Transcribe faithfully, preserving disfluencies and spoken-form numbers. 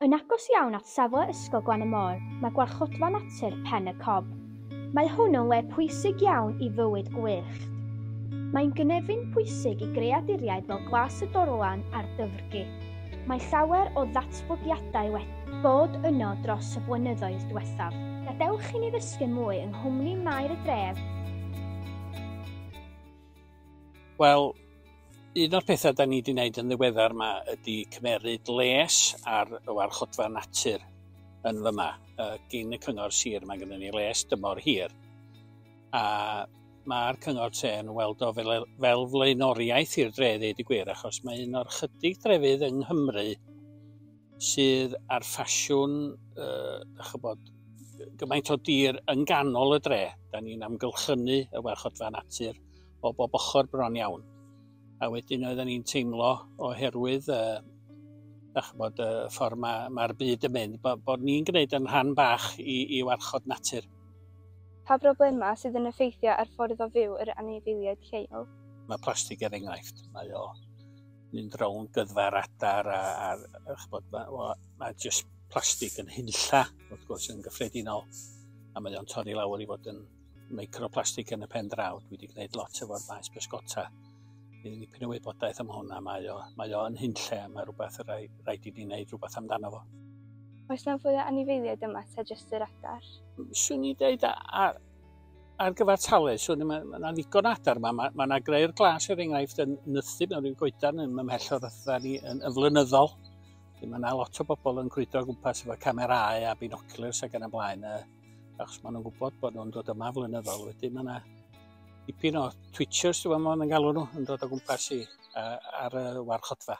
Yn agos iawn at safle Ysgol Glan y Môr mae gwarchodfa natur Pen y Cob. Mae hwn yn le pwysig iawn i fywyd gwyllt. Mae'n gynefin pwysig i greaduriaid fel glas y dorlan a'r dyfrgi. Mae llawer o ddatblygiadau wedi bod yno dros y blynyddoedd diwethaf. Gadewch i ni ddysgu mwy yng nghwmni Maer y Dref. Wel, un o'r pethau da ni wedi wneud yn ddiweddar yma ydy cymeryd les ar y warchodfa natur yn fyma. Uh, gyn y cyngor sir mae gennym ni les dymor hir. A mae'r cyngor tre yn weld o fel, fel flaenoriaeth i'r dre, ddeud y gwir, achos mae un o'r chydig drefydd yng Nghymru sydd ar ffasiwn, uh, chybod, gymaint o dir yn ganol y dre. Da ni'n amgylchynu y warchodfa natur o bob ochr bron iawn. A wedyn oedden ni'n teimlo oherwydd uh, chybod, y ffordd mae'r ma byd yn mynd, bod, bod ni'n gwneud yn rhan bach i, i warchod natur. Pa broblemau sydd yn effeithio ar ffordd o fyw yr anifeiliaid lleol? Mae plastig er enghraifft, mae o mynd rownd gyddfa'r adar a, a, a chybod, mae, mae just plastig yn hunlla, wrth gwrs, yn gyffredinol, a mae o'n torri lawr i fod yn microplastig yn y pen draw. Dwi wedi gwneud lot efo'r maes bysgota. Bydd dipyn o wybodaeth am hwnna, mae o, mae o yn hunlle a mae rhywbeth rhaid, rhaid i ni wneud rhywbeth amdano fo. Oes na fwy o anifeiliaid yma ta jyst yr adar? Swn i dweud ar, ar gyfartaledd, swn i, mae yna ddigon adar yma. Mae yna greu'r glas er enghraifft yn nythu mewn rhyw goedan yn ymhell o'r ydda ni yn, yn flynyddol. Mae yna lot o bobl yn crwydro o gwmpas efo camerâu a binoculars ac yn y blaen, achos maen nhw'n gwybod bod nhw'n dod yma flynyddol. Wedyn mae yna dipyn o twitchers, dwi'n meddwl, yn galw nhw, yn dod o gwmpas i ar y warchodfa.